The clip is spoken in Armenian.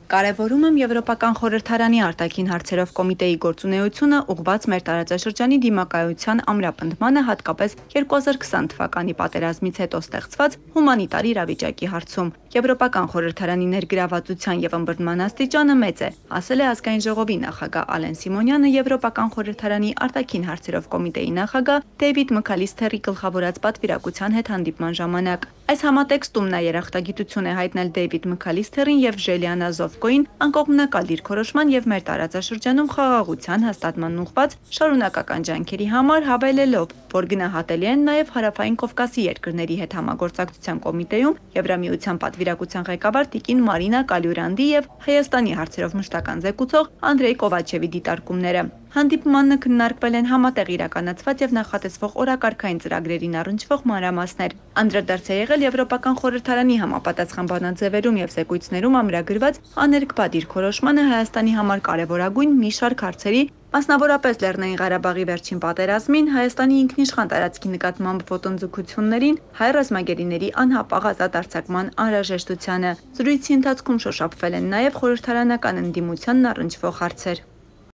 Կարևորում եմ Եվրոպական խորհրդարանի արտաքին հարցերով կոմիտեի գործունեությունը ուղղված մեր տարածաշրջանի դիմակայության ամրապնդմանը, հատկապես 2020 թվականի պատերազմից հետո ստեղծված հումանիտար իրավիճակի հարցում։ Եվրոպական խորհրդարանի ներգրավվածության եւ ըմբռնման աստիճանը մեծ է, ասել է Ազգային ժողովի նախագահ Ալեն Սիմոնյանը Եվրոպական խորհրդարանի արտաքին հարցերով կոմիտեի նախագահ Դեյվիդ Մքալիսթերի գլխավորած պատվիրակության հետ հանդիպման ժամանակ։ Այս համատեքստում նա երախտագիտություն է հայտնել Դեյվիդ Մքալիսթերին եւ Ժելիանա Զովկոին անկողմնակալ դիրքորոշման եւ մեր տարածաշրջանում խաղաղության հաստատման ուղղված շարունակական ջանքերի համար, հավելելով, որ գնահատելի են նաեւ Հարավային Կովկասի երկրների հետ համագործակցության կոմիտեում Եվրամիության պատվիրակության ղեկավար տիկին Մարինա Կալյուրանդի եւ Հայաստանի հարցերով մշտական զեկուցող Անդրեյ Կովաչևի դիտարկումները։ Հանդիպմանը քննարկվել են համատեղ իրականացված եւ նախատեսվող օրակարգային ծրագրերին առնչվող մանրամասներ։ Անդրադարձ է եղել Եվրոպական խորհրդարանի համապատասխան բանաձևերում եւ զեկույցներում ամրագրված աներկբա դիրքորոշմանը Հայաստանի համար կարևորագույն մի շարք հարցերի, մասնավորապես Լեռնային Ղարաբաղի վերջին պատերազմին, Հայաստանի ինքնիշխան տարածքի նկատմամբ ոտնձգություններին, հայ ռազմագերիների անհապաղ ազատ արձակման անհրաժեշտությանը։ Զրույցի ընթացքում շոշափվել են նաեւ խորհրդարանական ընդդիմությանն առնչվող հարցեր։